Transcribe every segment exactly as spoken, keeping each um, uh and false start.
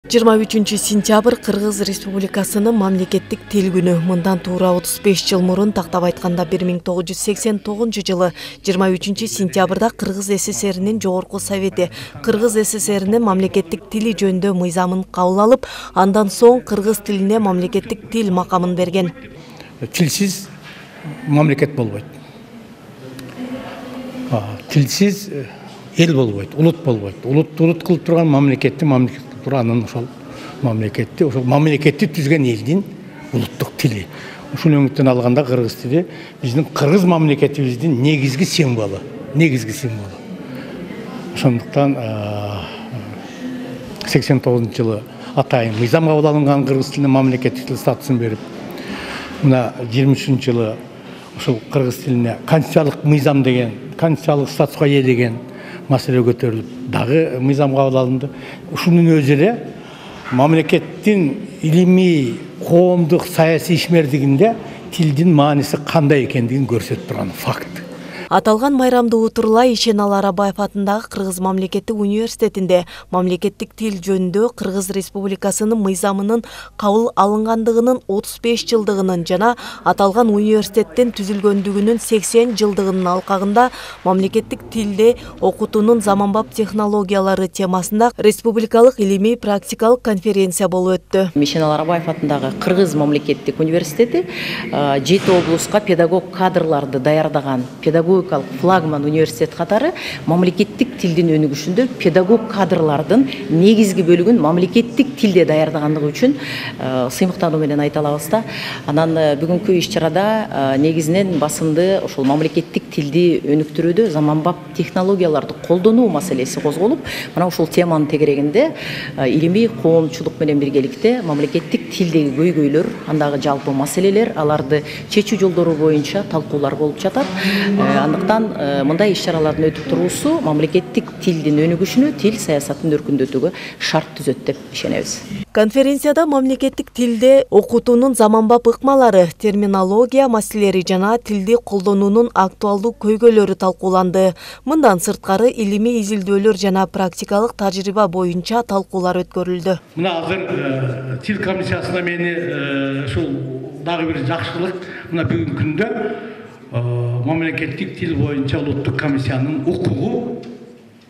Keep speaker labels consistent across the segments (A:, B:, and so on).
A: жыйырма үчүнчү сентябрь Кыргыз Республикасынын мамлекеттик тил күнү. Мындан туура отуз беш жыл мурун, тактап айтканда бир миң тогуз жүз сексен тогузунчу жылы жыйырма үчүнчү сентябрда Кыргыз СССРинин Жогорку Совети Кыргыз СССРинин мамлекеттик тили жөнүндө мыйзамын кабыл алып, андан соң кыргыз тилине мамлекеттик тил макамын берген.
B: Тилсиз мамлекет болбойт. Тилсиз эл болбойт, улут болбойт. Улут улут кылып турган мамлекетти мамлекет анын ошол мамлекетти ошол мамлекетти түзгөн элдин улуттук тили. Ушул өңүттөн алганда кыргыз тили биздин кыргыз мамлекетибиздин негизги символу, негизги символу. Ошондуктан сексен тогузунчу жылы атайын мыйзам кабыл алынган кыргыз тилине мамлекеттик тил статусун берип, мына жыйырма үчүнчү жылы ушул кыргыз тилине конституциялык мыйзам деген, конституциялык статуска ээ деген маселе көтөрүлүп, дагы мыйзам кабыл алынды. Ушунун өзү эле мамлекеттин илимий, коомдук, саясий ишмердигинде тилдин мааниси кандай экендигин көрсөтүп турган факт.
A: Аталган майрамды утурлай Ишеналы Арабаев атындагы Кыргыз мамлекеттик университетинде мамлекеттик тил жөнүндө Кыргыз Республикасынын мыйзамынын кабыл алынгандыгынын отуз беш жылдыгынын жана аталган университеттин түзүлгөндүгүнүн сексен жылдыгынын алкагында мамлекеттик тилде окутуунун заманбап технологиялары темасында республикалык илимий практикалык конференция болуп өттү.
C: Ишеналы Арабаев атындагы Кыргыз мамлекеттик университети жети облуска педагог кадрларды даярдаган педагог флагман университет катары мамлекеттик тилдин өнүгүшүндө педагог кадрлардын негизги бөлүгүн мамлекеттик тилде даярдагандыгы үчүн сыймыктануу менен айта алабыз да. Анан бүгүнкү иш-чарада негизинен басымды ошол мамлекеттик тилди өнүктүрүүдө заманбап технологияларды колдонуу маселеси козголуп, мына ушул теманын тегерегинде илимий коомчулук менен биргеликте мамлекеттик тилдеги көйгөйлөр, андагы жалпы маселелер, аларды чечүү жолдору боюнча талкуулар болуп жатат. Андыктан мындай иш-чаралардын өтүп туруусу мамлекеттик тилдин өнүгүшүнө, тил саясатын өркүндөтүүгө шарт түзөт деп ишенебиз.
A: Конференцияда мамлекеттик тилде окутуунун заманбап ыкмалары, терминология маселелери жана тилди колдонуунун актуалдуу көйгөйлөрү талкууланды. Мындан сырткары илимий изилдөөлөр жана практикалык тажрыйба боюнча талкуулар өткөрүлдү.
B: Мына азыр тил комиссиясына мени ушул дагы бир жакшылык, мына бүгүнкү күндө мамлекеттик тил боюнча улуттук комиссиянын укугу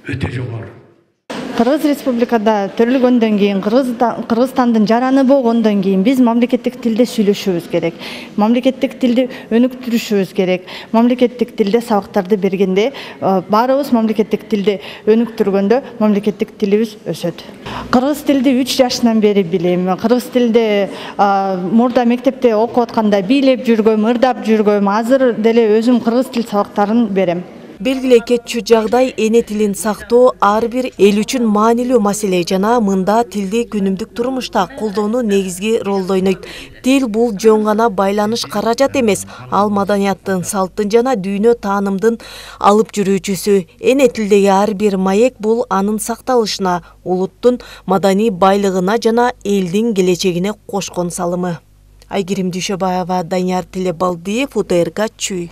B: өтө жогору.
D: Кыргыз Республикада төрөлгөндөн кийин, Кыргызстандын жараны болгондон кийин биз мамлекеттик тилде сүйлөшүбүз керек. Мамлекеттик тилди өнүктүрүшүбүз керек. Мамлекеттик тилде сабактарды бергенде, баарыбыз мамлекеттик тилди өнүктүргөндө мамлекеттик тилибиз өсөт. Кыргыз тилди үч жашынан бери билем. Кыргыз тилде мурда мектепте окуп атканда бийлеп жүргөм, ырдап жүргөм. Азыр деле өзүм кыргыз тил сабактарын берем.
A: Белгилей кетчү жагдай эне тилин сактоо ар бир эл үчүн маанилүү маселе жана мында тилди күнүмдүк турмушта колдонуу негизги ролду ойнойт. Тил бул жөн гана байланыш каражат эмес, ал маданияттын, салттын жана дүйнө таанымдын алып жүрүүчүсү. Эне тилдеги ар бир маек бул анын сакталышына, улуттун маданий байлыгына жана элдин келечегине кошкон салымы. Айгерим Дүйшөбаева, Данияр Телебалдиев, УТРК Чүй.